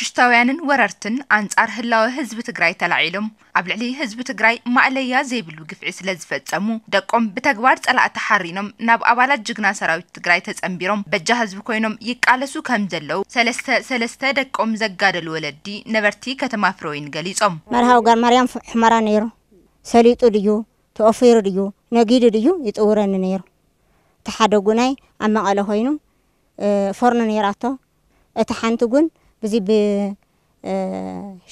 ሽታውያንን ወረርትን ኣንጻር ህላወ ህዝቢ ትግራይ ተላዒሎም ኣብ ልዕሊ ህዝቢ ትግራይ ማእለያ ዘይብሉ ግፍዒ ስለ ዝፈጸሙ ደቆም ብተግባር ጸላእቲ ሓሪኖም ናብ ኣባላት ጅግና ሰራዊት ትግራይ ተጸንቢሮም በጃ ህዝቢ ኮይኖም ይቃለሱ ከም ዘለዉ ሰለስተ ሰለስተ ደቆም ዘጋደሉ ወለዲ ነበርቲ ከተማ ፍረወይን ገሊጾም። መርሃዊ ጋር ማርያም ፍ- ሕመራ ነይሩ። ሰሊጡ ድዩ፣ ተወፊሩ ድዩ፣ ነጊዱ ድዩ ይጥውረኒ ነይሩ። እቲ ሓደ ጉናይ ኣብ መቐለ ኮይኑ፣ እ፣ ፎርኖ ነይራቶ። እቲ ሓንቲ ጉን ብዚ ብ-፣ እ፣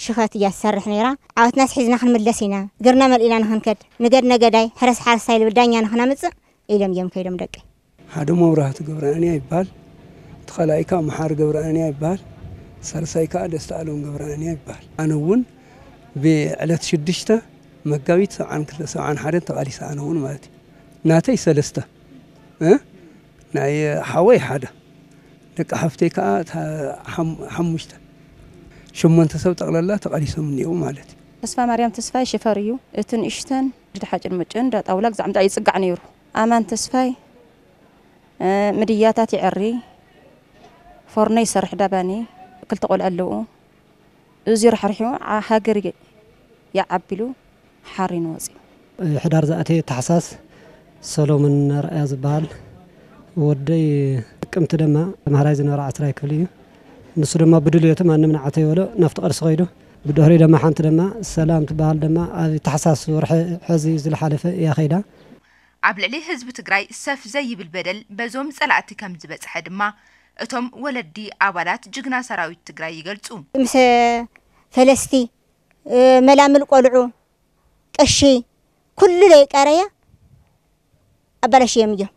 ሽኸት እያ ትሰርሕ ነይራ። ዓወትናስ ሒዝና ክንምለስ ኢና፣ ግርና መሊእና ንኽንከድ፣ ንገድ ነገዳይ፣ ሕረስ ሓረስታይ ልብል ዳኛ ንኽነምጽእ ኢሎም እዮም ከይዶም ደቂ። ሓደ መብራህቱ ገብረኣንያ ይበሃል። እቲ ካልኣይ ከዓ መሓሪ ገብረኣንያ ይበሃል። ሳልሳይ ከዓ ደስታ ኣለም ገብረኣንያ ይበሃል። ኣነ እውን ብዕለት ሽዱሽተ መጋቢት ሰብዓን ክልተ ሰብዓን ሓደን ተቓሊሰ ኣነ እውን ማለት እዩ። ናተይ ሰለስተ፣ እ? ናይ ሓወይ ሓደ፣ ደቂ ሓፍተይ ከዓ እታ ሓም-፣ ሓሙሽተ፣ ሸሞንተ ሰብ ጠቕላላ ተቓሊሶም እኒአው ማለት እዩ። ተስፋ ማርያም ተስፋይ ሽፈር እዩ። እቲ ንእሽተን ድሓጭን ምጭን ዳጣውላ ግዛዕ ምጣ ይጽጋዕ ነይሩ። ኣማን ተስፋይ፣ እ፣ ምድያታት ይዕሪ፣ ፎርኖ ይሰርሕ ዳባኒ፣ ክልተ ቆልዑ ኣለዉ። እዚ ራሕሪሑ ዓ-፣ ሃገር የ-፣ ይዓቢሉ ሓሪኑ ወፂኡ። ሕዳር ዝኣተየ ታሕሳስ ሰሎሞን ኣርኣያ ዝበሃል ወደይ ጥቅምቲ ድማ ተምሃራይ ዝነበረ ዓስራይ ክፍሊ እዩ። ንሱ ድማ ብድልየቱ ማንም ንዓተይ በሎ ናብቲ ቃልሲ ከይዱ። ብድሕሪኡ ድማ ሓንቲ ድማ ሰላም ትበሃል ድማ ኣብ ታሕሳስ ወርሒ ሕዚ ዝለሓለፈ እያ ከይዳ። ኣብ ልዕሊ ህዝቢ ትግራይ ሰፍ ዘይብል በደል በዞም ጸላእቲ ከም ዝበጽሐ ድማ እቶም ወለዲ ኣባላት ጅግና ሰራዊት ትግራይ ይገልጹ። ምስ ፈለስቲ፣ እ፣ መላምል ቆልዑ፣ ቅሺ፣ ኩሉ ለይቀረየ ኣባላሽዮም እዮም።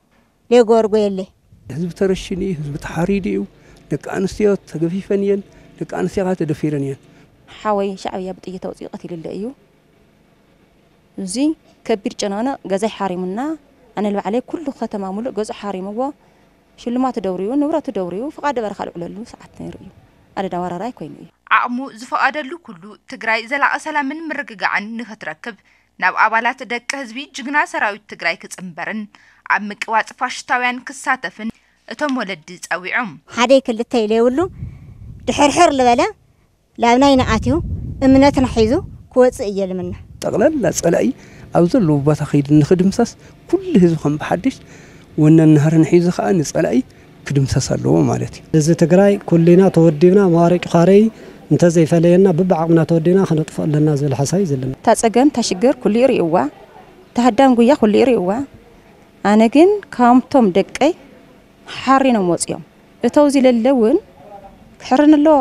ለይገበርጎ የለ። ህዝቢ ተረሽኑ እዩ፣ ህዝቢ ተሓሪዱ እዩ። ደቂ ኣንስትዮ ተገፊፈን እየን። ደቂ ኣንስትዮ ከዓ ተደፊረን እየን። ሓወይ ሻዕብያ ብጥይት ኣውፂኡ ቀቲሉለ እዩ። እዚ ከቢድ ጨናነቕ ገዛይ ሓሪሙና፣ ኣነ ንባዕለይ ኩሉ ከተማ ሙሉእ ገዝኡ ሓሪምዎ፣ ሽልማቱ ደውርዩ፣ ንብረቱ ደውርዩ፣ ፍቓድ በረኻ ልዕለሉ ሰዓት ነይሩ እዩ። ኣደዳ ወራራይ ኮይኑ እዩ። ዓቕሙ ዝፈቐደሉ ኩሉ ትግራይ ዘላቒ ሰላምን ምርግጋዕን ንኽትረክብ ናብ ኣባላት ደቂ ህዝቢ ጅግና ሰራዊት ትግራይ ክጽንበርን ኣብ ምቅዋጽ ፋሽስታውያን ክሳተፍን እቶም ወለዲ ጸዊዖም። ሓደይ ክልተይ ለይብሉ ድሕርሕር ዝበለ ላብ ናይና ኣትዩ እምነትና ሒዙ ክወፅእ እየ ልምና። ጠቕላላ ፀላኢ ኣብ ዘለዎ ቦታ ከይዱ ንኽድምሰስ ኩሉ ህዝቢ ከም ብሓድሽ ወነን ናህርን ሒዙ ከዓ ንፀላኢ ክድምሰስ ኣለዎ ማለት እዩ። ህዝቢ ትግራይ ኩልና ተወዲብና መዋረቂ ኻረይ እንተዘይፈለየና ብብዓቕምና ተወዲብና ከነጥፍኦ ኣለና ዝብል ሓሳብ እዩ ዘለና። እታ ፀገም እታ ሽግር ኩሉ ይርእይዋ፣ እታ ሃዳም ጉያ ኩሉ ይርእይዋ። ኣነ ግን ካብቶም ደቀይ ሓሪኖም ወፂኦም። እተው ዝለለ እውን ክሕርን ኣለዎ፣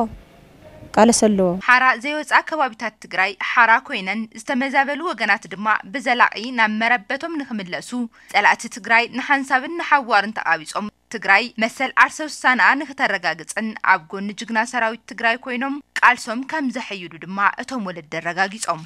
ቃለስ ኣለዎ። ሓራ ዘይወፃ ከባቢታት ትግራይ ሓራ ኮይነን ዝተመዛበሉ ወገናት ድማ ብዘላቒ ናብ መረበቶም ንክምለሱ ፀላእቲ ትግራይ ንሓንሳብን ንሓዋርን ተቓቢጾም ትግራይ መሰል ዓርሰ ውሳነኣ ንክተረጋግፅን ኣብ ጎኒ ጅግና ሰራዊት ትግራይ ኮይኖም ቃልሶም ከም ዘሐይሉ ድማ እቶም ወለዲ ኣረጋጊጾም።